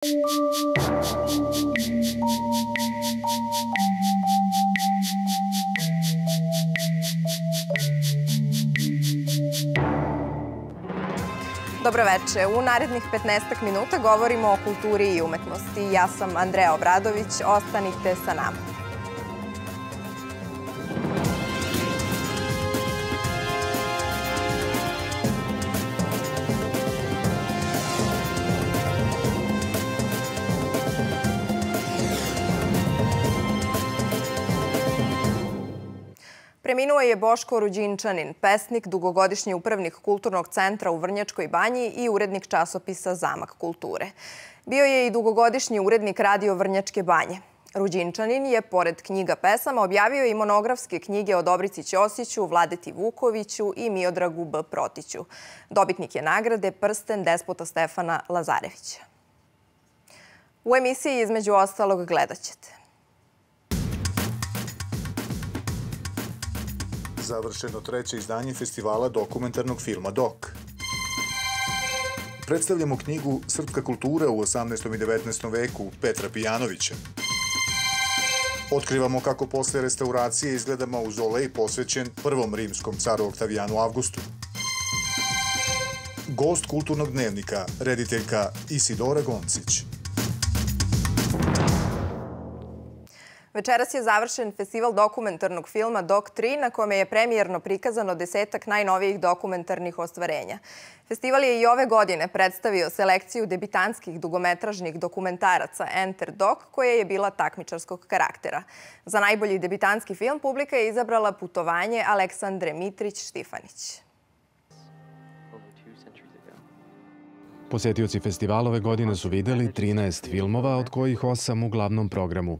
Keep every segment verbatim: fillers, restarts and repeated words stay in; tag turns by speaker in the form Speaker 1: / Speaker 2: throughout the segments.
Speaker 1: Dobroveče. U narednih petnaestak minuta govorimo o kulturi i umetnosti. Ja sam Andreja Obradović. Ostanite sa nama. Preminuo je Boško Ruđinčanin, pesnik, dugogodišnji upravnik Kulturnog centra u Vrnjačkoj Banji i urednik časopisa Zamak kulture. Bio je i dugogodišnji urednik Radio Vrnjačke Banje. Ruđinčanin je, pored knjiga pesama, objavio i monografske knjige o Dobrici Ćosiću, Vladeti Vukoviću i Miodragu B. Protiću. Dobitnik je nagrade Prsten despota Stefana Lazarevića. U emisiji između ostalog gledat ćete.
Speaker 2: Završeno treće izdanje festivala dokumentarnog filma Dok. Predstavljamo knjigu Srpska kultura u osamnaestom i devetnaestom veku Petra Pijanovića. Otkrivamo kako posle restauracije izgleda mauzolej posvećen prvom rimskom caru Oktavijanu Avgustu. Gost kulturnog dnevnika, rediteljka Isidora Goncić.
Speaker 1: Večeras je završen festival dokumentarnog filma Dok tri, na kome je premijerno prikazano desetak najnovijih dokumentarnih ostvarenja. Festival je i ove godine predstavio selekciju debitanskih dugometražnih dokumentaraca Enter Dok, koja je bila takmičarskog karaktera. Za najbolji debitanski film publika je izabrala Putovanje Aleksandre Mitrić-Štifanić.
Speaker 3: Posetioci festivala ove godine su videli trinaest filmova, od kojih osam u glavnom programu.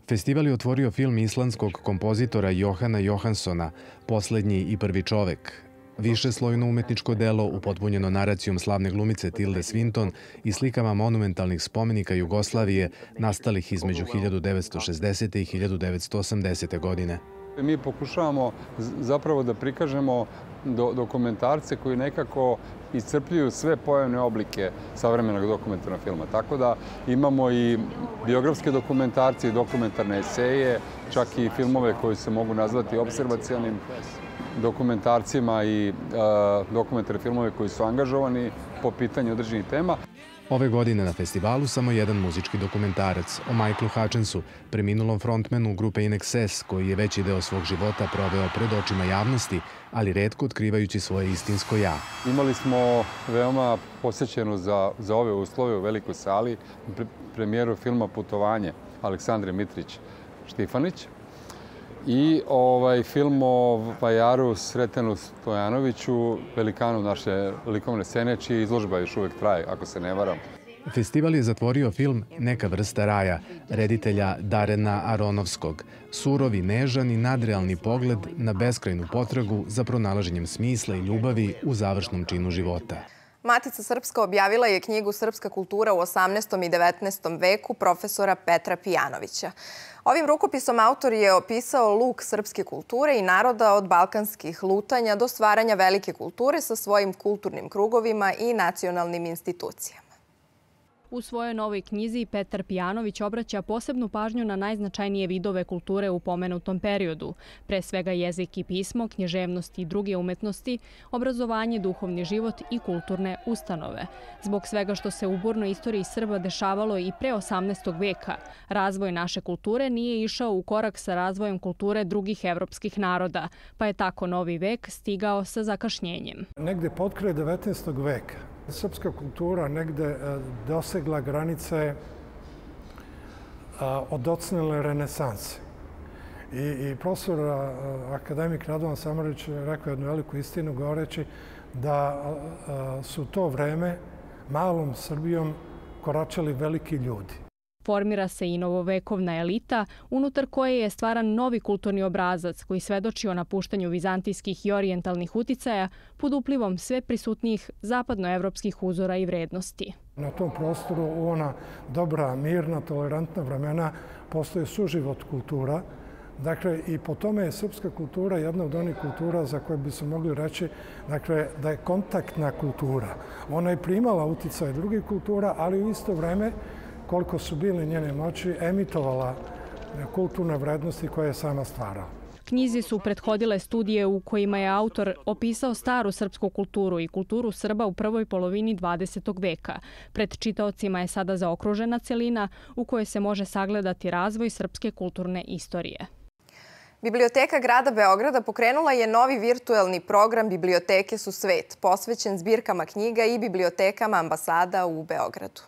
Speaker 3: Festival je otvorio film islandskog kompozitora Johana Johanssona Poslednji i prvi čovek. Višeslojno umetničko delo upotpunjeno naracijom slavne glumice Tilde Swinton i slikama monumentalnih spomenika Jugoslavije nastalih između hiljadu devetsto šezdesete. i hiljadu devetsto osamdesete. godine.
Speaker 4: Mi pokušavamo zapravo da prikažemo dokumentarce koji nekako iscrpljuju sve pojavne oblike savremenog dokumentarnog filma. Tako da imamo i biografske dokumentarce i dokumentarne eseje, čak i filmove koji se mogu nazvati observacionim dokumentarcima i dokumentarne filmove koji su angažovani po pitanju određenih tema.
Speaker 3: Ove godine na festivalu samo jedan muzički dokumentarac o Michaelu Hutchensu, preminulom frontmanu grupe In Excess, koji je veći deo svog života proveo pred očima javnosti, ali retko otkrivajući svoje istinsko ja.
Speaker 4: Imali smo veoma posjećenu za, za ove uslove u velikoj sali premijeru filma Putovanje Aleksandre Mitrić-Štifanić i ovaj film o vajaru Sretenu Stojanoviću, velikanu naše likovne scene, čija izložba još uvek traje, ako se ne varam.
Speaker 3: Festival je zatvorio film Neka vrsta raja, reditelja Darena Aronovskog. Surovi, nežan i nadrealni pogled na beskrajnu potragu za pronalaženjem smisla i ljubavi u završnom činu života.
Speaker 1: Matica Srpska objavila je knjigu Srpska kultura u osamnaestom i devetnaestom veku profesora Petra Pijanovića. Ovim rukopisom autor je opisao luk srpske kulture i naroda od balkanskih lutanja do stvaranja velike kulture sa svojim kulturnim krugovima i nacionalnim institucijama.
Speaker 5: U svojoj novoj knjizi Petar Pijanović obraća posebnu pažnju na najznačajnije vidove kulture u pomenutom periodu, pre svega jezik i pismo, književnost i druge umetnosti, obrazovanje, duhovni život i kulturne ustanove. Zbog svega što se u burnoj istoriji Srba dešavalo i pre osamnaestog veka, razvoj naše kulture nije išao u korak sa razvojem kulture drugih evropskih naroda, pa je tako novi vek stigao sa zakašnjenjem.
Speaker 6: Negde potkraj devetnaestog veka srpska kultura negde dosegla granice odocnele renesanse. I profesor akademik Radovan Samardžić rekao jednu veliku istinu govoreći da su to vreme malom Srbijom koračali veliki ljudi.
Speaker 5: Formira se i novovekovna elita, unutar koje je stvaran novi kulturni obrazac koji svedoči o napuštanju vizantijskih i orijentalnih uticaja pod uplivom sve prisutnijih zapadnoevropskih uzora i vrednosti.
Speaker 6: Na tom prostoru u ona dobra, mirna, tolerantna vremena postoji suživot kultura Dakle, i po tome je srpska kultura jedna od onih kultura za koje bi se mogli reći dakle, da je kontaktna kultura. Ona je primala uticaj drugih kultura, ali u isto vreme, koliko su bile njene moći, emitovala kulturne vrednosti koje je sama stvarala.
Speaker 5: Knjizi su prethodile studije u kojima je autor opisao staru srpsku kulturu i kulturu Srba u prvoj polovini dvadesetog veka. Pred čitaocima je sada zaokružena celina u kojoj se može sagledati razvoj srpske kulturne istorije.
Speaker 1: Biblioteka grada Beograda pokrenula je novi virtuelni program Biblioteke su svet, posvećen zbirkama knjiga i bibliotekama ambasada u Beogradu.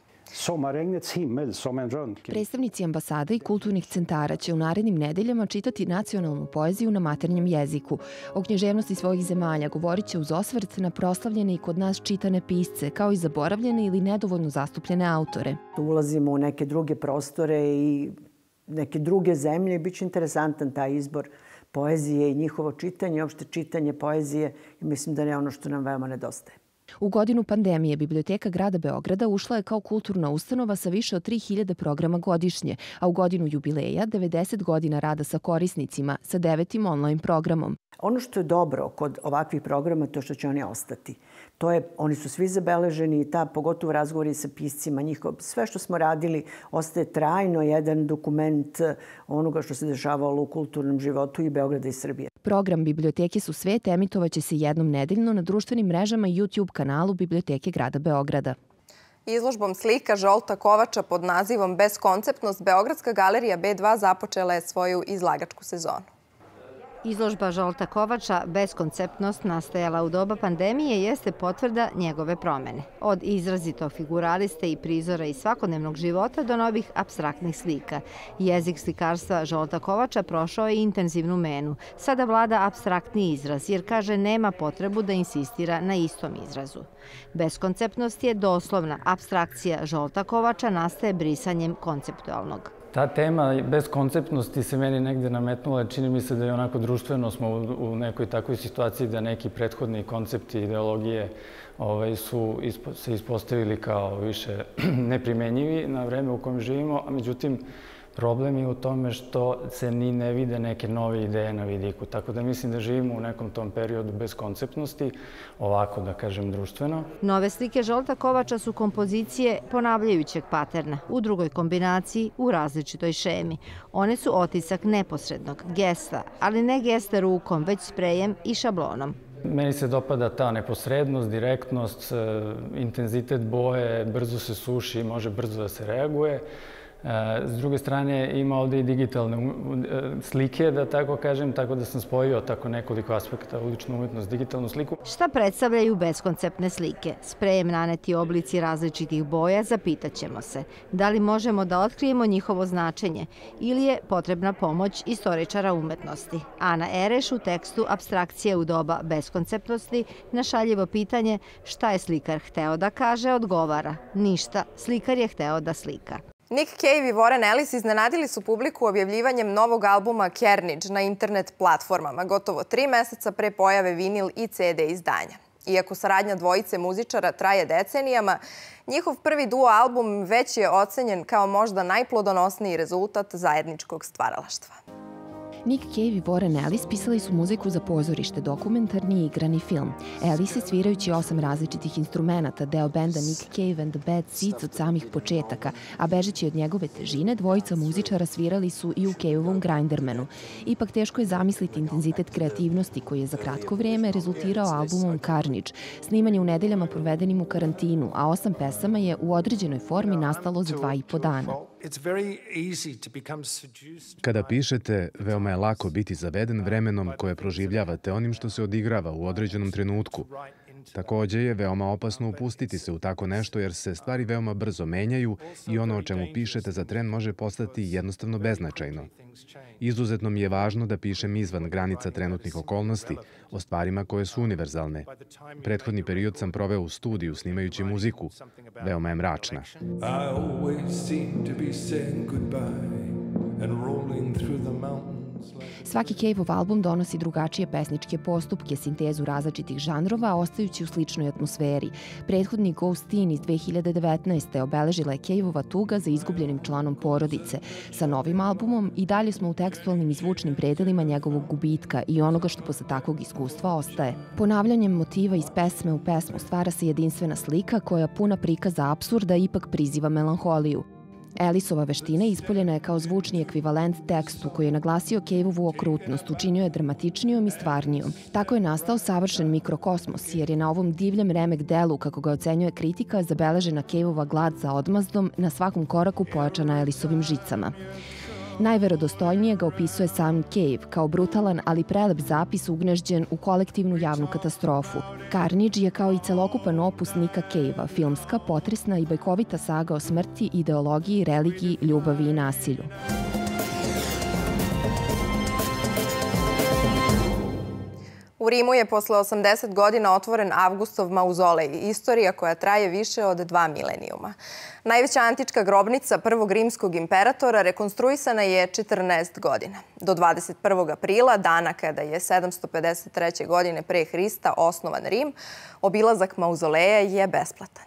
Speaker 7: Predstavnici ambasada i kulturnih centara će u narednim nedeljama čitati nacionalnu poeziju na maternjem jeziku. O književnosti svojih zemalja govorit će uz osvrt na proslavljene i kod nas čitane pisce, kao i zaboravljene ili nedovoljno zastupljene autore.
Speaker 8: Ulazimo u neke druge prostore i neke druge zemlje i bit će interesantan taj izbor poezije i njihovo čitanje, opšte čitanje poezije. Mislim da je ono što nam veoma nedostaje.
Speaker 7: U godinu pandemije Biblioteka grada Beograda ušla je kao kulturna ustanova sa više od tri hiljade programa godišnje, a u godinu jubileja devedeset godina rada sa korisnicima sa devetim online programom.
Speaker 8: Ono što je dobro kod ovakvih programa to što će oni ostati. To je, oni su svi zabeleženi i ta, pogotovo razgovori sa piscima, njihov, sve što smo radili ostaje trajno jedan dokument onoga što se dešavalo u kulturnom životu i Beograda i Srbije.
Speaker 7: Program Biblioteke su svet emitovaće se jednom nedeljno na društvenim mrežama i YouTube kanalu Biblioteke grada Beograda.
Speaker 1: Izložbom slika Žolta Kovača pod nazivom Beskonceptnost Beogradska galerija B dva započela je svoju izlagačku sezonu.
Speaker 9: Izložba Žolta Kovača Beskonceptnost nastajala u doba pandemije jeste potvrda njegove promene. Od izrazito figuraliste i prizora iz svakodnevnog života do novih apstraktnih slika. Jezik slikarstva Žolta Kovača prošao je intenzivnu menu. Sada vlada apstraktni izraz jer kaže nema potrebu da insistira na istom izrazu. Beskonceptnost je doslovna apstrakcija Žolta Kovača nastaje brisanjem konceptualnog.
Speaker 10: Ta tema beskonceptnosti se meni negde nametnula. Čini mi se da je onako društveno smo u nekoj takvoj situaciji da neki prethodni koncepti, ideologije su se ispostavili kao više neprimenjivi na vreme u kojem živimo, a međutim problem je u tome što se ni ne vide neke nove ideje na vidiku. Tako da mislim da živimo u nekom tom periodu beskonceptnosti, ovako da kažem društveno.
Speaker 9: Nove slike Žolta Kovača su kompozicije ponavljajućeg paterna, u drugoj kombinaciji, u različitoj šemi. One su otisak neposrednog, gesta, ali ne gesta rukom, već sprejem i šablonom.
Speaker 10: Meni se dopada ta neposrednost, direktnost, intenzitet boje, brzo se suši, može brzo da se reaguje. S druge strane, ima ovdje i digitalne slike, da tako kažem, tako da sam spojio tako nekoliko aspekta, uličnu umetnost, digitalnu sliku.
Speaker 9: Šta predstavljaju beskonceptne slike? Sprejem naneti oblici različitih boja, zapitaćemo se. Da li možemo da otkrijemo njihovo značenje ili je potrebna pomoć istoričara umetnosti? Ana Ereš u tekstu Apstrakcije u doba beskonceptnosti na šaljivo pitanje šta je slikar hteo da kaže, odgovara ništa, slikar je hteo da slika.
Speaker 1: Nick Cave i Warren Ellis iznenadili su publiku objavljivanjem novog albuma Carnage na internet platformama, gotovo tri meseca pre pojave vinil i ce de izdanja. Iako saradnja dvojice muzičara traje decenijama, njihov prvi duo album već je ocenjen kao možda najplodonosniji rezultat zajedničkog stvaralaštva.
Speaker 7: Nick Cave i Warren Ellis pisali su muziku za pozorište, dokumentarni i igrani film. Ellis je svirajući osam različitih instrumenta, deo benda Nick Cave and the Bad Seeds od samih početaka, a bežeći od njegove težine, dvojica muzičara svirali su i u Caveovom Grindermanu. Ipak teško je zamisliti intenzitet kreativnosti koji je za kratko vrijeme rezultirao albumom Carnage, snimanje u nedeljama provedenim u karantinu, a osam pesama je u određenoj formi nastalo za dva i po dana.
Speaker 3: Kada pišete, veoma je lako biti zaveden vremenom koje proživljavate onim što se odigrava u određenom trenutku. Također je veoma opasno upustiti se u tako nešto jer se stvari veoma brzo menjaju i ono o čemu pišete za tren može postati jednostavno beznačajno. Izuzetno mi je važno da pišem izvan granica trenutnih okolnosti, o stvarima koje su univerzalne. Prethodni period sam proveo u studiju snimajući muziku. Veoma je mračna.
Speaker 11: I always seem to be saying goodbye and rolling through the mountains.
Speaker 7: Svaki Cave-ov album donosi drugačije pesničke postupke, sintezu različitih žanrova, ostajući u sličnoj atmosferi. Prethodni Ghost Teen iz dve hiljade devetnaeste. obeležila je Cave-ova tuga za izgubljenim članom porodice. Sa novim albumom i dalje smo u tekstualnim i zvučnim predelima njegovog gubitka i onoga što posle takvog iskustva ostaje. Ponavljanjem motiva iz pesme u pesmu stvara se jedinstvena slika koja puna prikaza apsurda ipak priziva melanholiju. Ellisova veština ispoljena je kao zvučni ekvivalent tekstu koji je naglasio Cave-ovu okrutnost, učinio je dramatičnijom i stvarnijom. Tako je nastao savršen mikrokosmos, jer je na ovom divljem remek delu, kako ga ocenjuje kritika, zabeležena Cave-ova glad za odmazdom, na svakom koraku pojačana Ellisovim žicama. Najverodostojnije ga opisuje sam Cave, kao brutalan, ali prelep zapis ugnežđen u kolektivnu javnu katastrofu. Carnage je kao i celokupan opus Nicka Cave-a, filmska, potresna i bajkovita saga o smrti, ideologiji, religiji, ljubavi i nasilju.
Speaker 1: U Rimu je posle osamdeset godina otvoren Avgustov mauzolej, istorija koja traje više od dva milenijuma. Najveća antička grobnica prvog rimskog imperatora rekonstruisana je četrnaest godina. Do dvadeset prvog aprila, dana kada je sedamsto pedeset treće. godine pre Hrista osnovan Rim, obilazak mauzoleja je besplatan.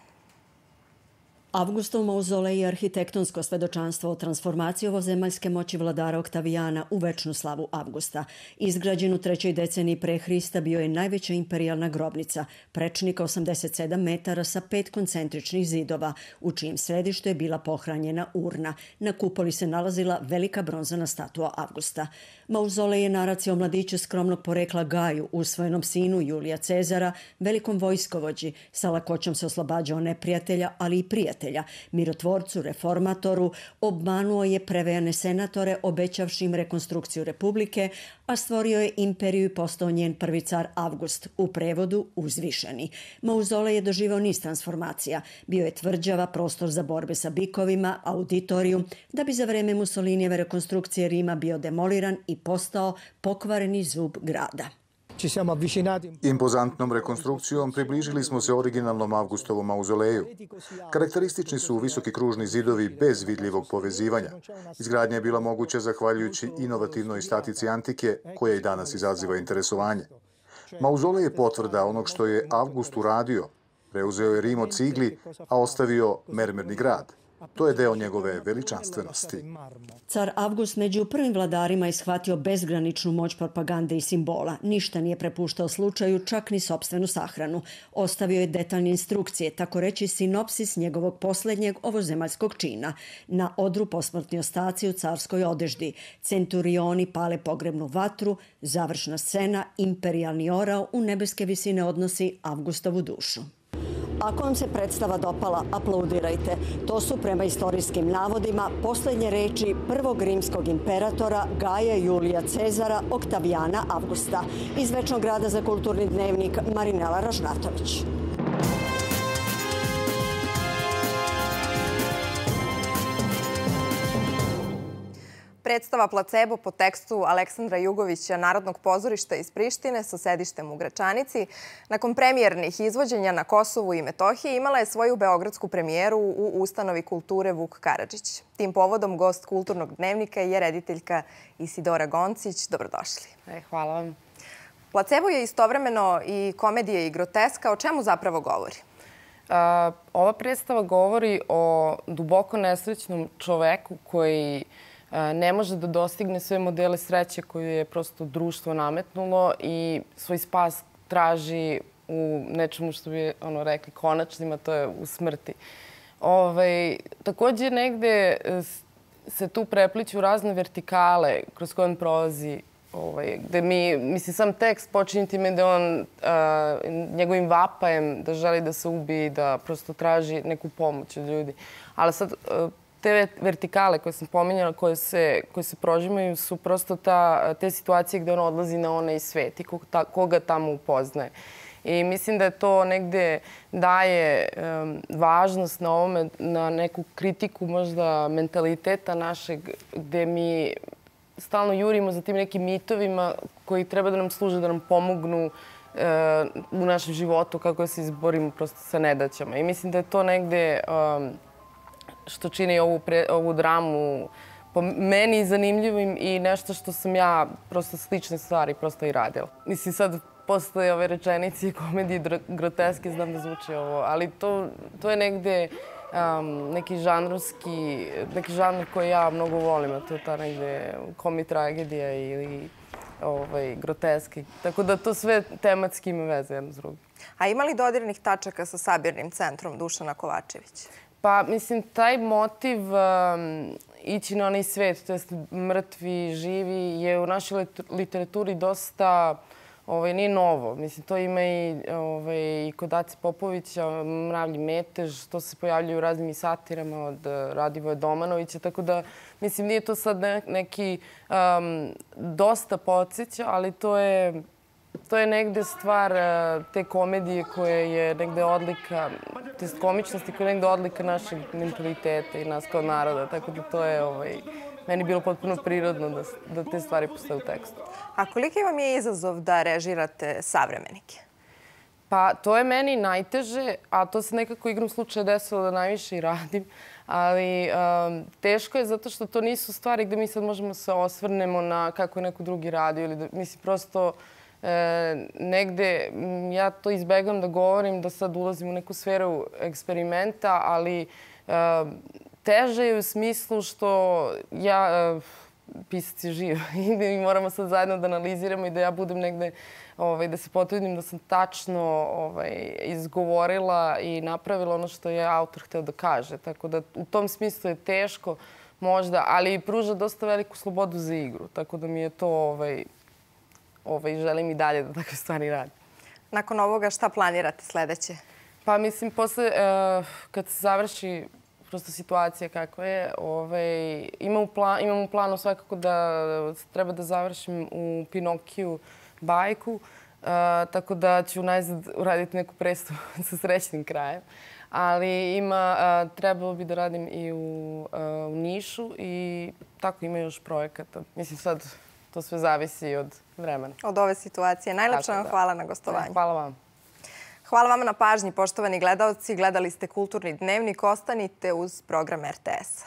Speaker 11: Avgustov mauzolej je arhitektonsko svedočanstvo o transformaciji ovozemaljske moći vladara Oktavijana u večnu slavu Avgusta. Izgrađen u trećoj deceniji pre Hrista bio je najveća imperijalna grobnica, prečnika osamdeset sedam metara sa pet koncentričnih zidova, u čijem središtu je bila pohranjena urna. Na kupoli se nalazila velika bronzana statua Avgusta. Mauzolej je naracija o mladiću skromnog porekla Gaju, usvojenom sinu Julija Cezara, velikom vojskovođi, sa lakoćom se oslobađao neprijatelja, ali i prijatelja. Mirotvorcu, reformatoru, obmanuo je prevejane senatore obećavši im rekonstrukciju republike, a stvorio je imperiju i postao njen prvi car Avgust, u prevodu uzvišeni. Mauzolej je doživao niz transformacija. Bio je tvrđava, prostor za borbe sa bikovima, auditorijum, da bi za vreme Mussolinijeve rekonstrukcije Rima bio demoliran i postao pokvareni zub grada.
Speaker 2: Impozantnom rekonstrukcijom približili smo se originalnom Avgustovom mauzoleju. Karakteristični su visoki kružni zidovi bez vidljivog povezivanja. Izgradnja je bila moguća zahvaljujući inovativnoj statici antike, koja i danas izaziva interesovanje. Mauzolej je potvrda onog što je Avgust uradio. Preuzeo je Rim od cigli, a ostavio mermerni grad. To je deo njegove veličanstvenosti.
Speaker 11: Car Avgust među prvim vladarima je shvatio bezgraničnu moć propagande i simbola. Ništa nije prepuštao slučaju, čak ni sopstvenu sahranu. Ostavio je detaljne instrukcije, tako reći sinopsis njegovog poslednjeg ovozemaljskog čina. Na odru posmrtni ostaci u carskoj odeždi. Centurioni pale pogrebnu vatru, završna scena, imperijalni orao u nebeske visine odnosi Avgustovu dušu. Ako vam se predstava dopala, aplaudirajte. To su prema istorijskim navodima poslednje reči prvog rimskog imperatora Gaja Julija Cezara Oktavijana Avgusta. Iz Večnog grada za kulturni dnevnik Marinela Ražnatović.
Speaker 1: Predstava Placebo po tekstu Aleksandra Jugovića Narodnog pozorišta iz Prištine sa sedištem u Gračanici, nakon premijernih izvođenja na Kosovu i Metohiji, imala je svoju beogradsku premijeru u ustanovi kulture Vuk Karadžić. Tim povodom gost Kulturnog dnevnika je rediteljka Isidora Goncić. Dobrodošli.
Speaker 12: E, hvala vam.
Speaker 1: Placebo je istovremeno i komedija i groteska. O čemu zapravo govori?
Speaker 12: A, ova predstava govori o duboko nesrećnom čoveku koji ne može da dostigne sve modele sreće koje je prosto društvo nametnulo i svoj spas traži u nečemu što bi ono rekli konačnim, a to je u smrti. Ovaj, također negde se tu prepliću razne vertikale kroz koje on prolazi, ovaj, gde mi, mislim, sam tekst počinje time da on a, njegovim vapajem da želi da se ubije, da prosto traži neku pomoć od ljudi. Ali sad a, te vertikale koje sam pominjala, koje se, koje se prožimaju, su prosto ta, te situacije gde on odlazi na onaj svet i koga, koga tamo upoznaje. I mislim da je to negde daje um, važnost na ovome, na neku kritiku možda mentaliteta našeg, gde mi stalno jurimo za tim nekim mitovima koji treba da nam služe, da nam pomognu uh, u našem životu, kako da se izborimo prosto sa nedaćama. I mislim da je to negde um, što čini ovu, pre, ovu dramu po meni zanimljivim i nešto što sam ja prosto slične stvari prosto i radila. Mislim, sad posle ove rečenice i komedije groteske znam da zvuči ovo, ali to, to je negde um, neki žanrovski, neki žanr koji ja mnogo volim, a to je ta negde komi-tragedija ili ovaj, groteski. Tako da to sve tematski ima veze jedno s drugim.
Speaker 1: A ima li dodirnih tačaka sa sabirnim centrom Dušana Kovačevića?
Speaker 12: Pa, mislim, taj motiv um, ići na onaj svet, to jest mrtvi, živi, je u našoj literaturi dosta, ovaj, nije novo. Mislim, to ima i, ovaj, i kod Ace Popovića, Mravlji metež, to se pojavljaju u raznim satirama od Radivoja Domanovića, tako da, mislim, nije to sad ne, neki um, dosta podsjeća, ali to je To je negde stvar te komedije koja je negde odlika, to je komičnosti koja je negde odlika našeg mentaliteta i nas kao naroda. Tako da to je ovaj, meni bilo potpuno prirodno da, da te stvari postoje u tekstu.
Speaker 1: A koliki vam je izazov da režirate savremenike?
Speaker 12: Pa to je meni najteže, a to se nekako igrom slučaja desilo da najviše i radim. Ali um, teško je zato što to nisu stvari gde mi sad možemo se osvrnemo na kako je neko drugi radio. Ili da, mislim, prosto E, negde ja to izbegam da govorim, da sad ulazim u neku sferu eksperimenta, ali e, teže je u smislu što ja, e, pisac je živ i mi moramo sad zajedno da analiziramo i da ja budem negde, ovaj, da se potrudim da sam tačno ovaj, izgovorila i napravila ono što je autor hteo da kaže. Tako da u tom smislu je teško možda, ali pruža dosta veliku slobodu za igru. Tako da mi je to... Ovaj, Ovaj, želim i dalje da takve stvari radim.
Speaker 1: Nakon ovoga šta planirate sledeće?
Speaker 12: Pa mislim, posle, uh, kad se završi prosto situacija kakva je, ovaj, imam, u plan, imam u planu svakako da treba da završim u Pinokiju bajku, uh, tako da ću najzad uraditi neku predstavu sa srećnim krajem. Ali ima, uh, trebalo bi da radim i u, uh, u Nišu i tako ima još projekata. Mislim sad... To sve zavisi od vremena.
Speaker 1: Od ove situacije. Najlepša vam hvala na gostovanju.
Speaker 12: Hvala vam.
Speaker 1: Hvala vama na pažnji, poštovani gledaoci. Gledali ste Kulturni dnevnik. Ostanite uz program R T S-a.